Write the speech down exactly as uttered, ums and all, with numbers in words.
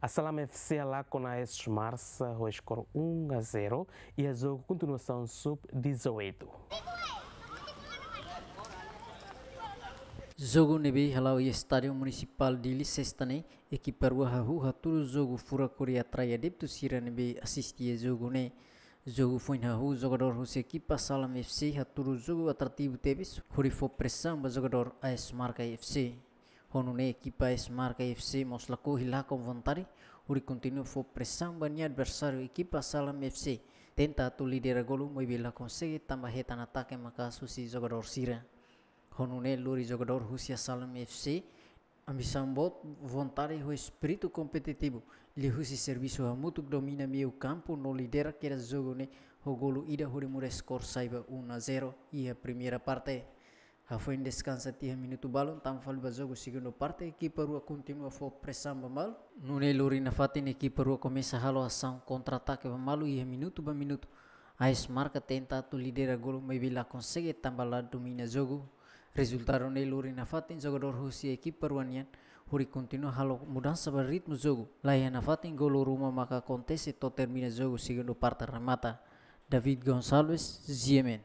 Asalam F C halakon AS Marka ho skor um a zero iha jogu kontinuasaun sub dezoito. Jogu ne'ebé hala'o iha Estádiu Munisipál Dili, Sesta ne'e, ekipa rua hahú hatudu jogu furak hodi atrai adeptu sira ne'ebé asiste iha jogu ne'e. Jogu foin hahú, jogadór husi ekipa Asalam F C hatudu jogu atrativu tebes hodi fó presaun ba jogadór AS Marka F C. Ho nune'e ekipa AS Marka F C mós lakohi lakon vontade hodi kontinua fó presaun ba nia adversáriu, ekipa Asalam F C tenta atu lidera golu, maibé la konsege tanba hetan atake maka'as husi jogadór sira. Ho nune'e lori jogadór husi Asalam F C ambisaun boot, vontade ho espíritu kompetitivu, liuhusi servisu hamutuk, domina meiu kampu no lidera kedas jogu ne'e ho golu ida hodi muda skor sai ba um a zero iha primeira parte. Hafoin deskansa tiha minutu balun, tama fali ba jogu segundu parte, ekipa rua kontinua fó presaun ba malu. Nune'e lori nafatin ekipa rua komesa halo asaun kontra-atake ba malu iha minutu ba minutu. AS Marka tenta atu lidera golu, maibé la konsege tanba la domina jogu. Rezultadu ne'e lori nafatin jogadór husi ekipa rua nian hodi kontinua halo mudansa ba ritmu jogu. La iha nafatin golu ruma maka akontese to'o termina jogu segundu parte remata. David Gonçalves, G M N.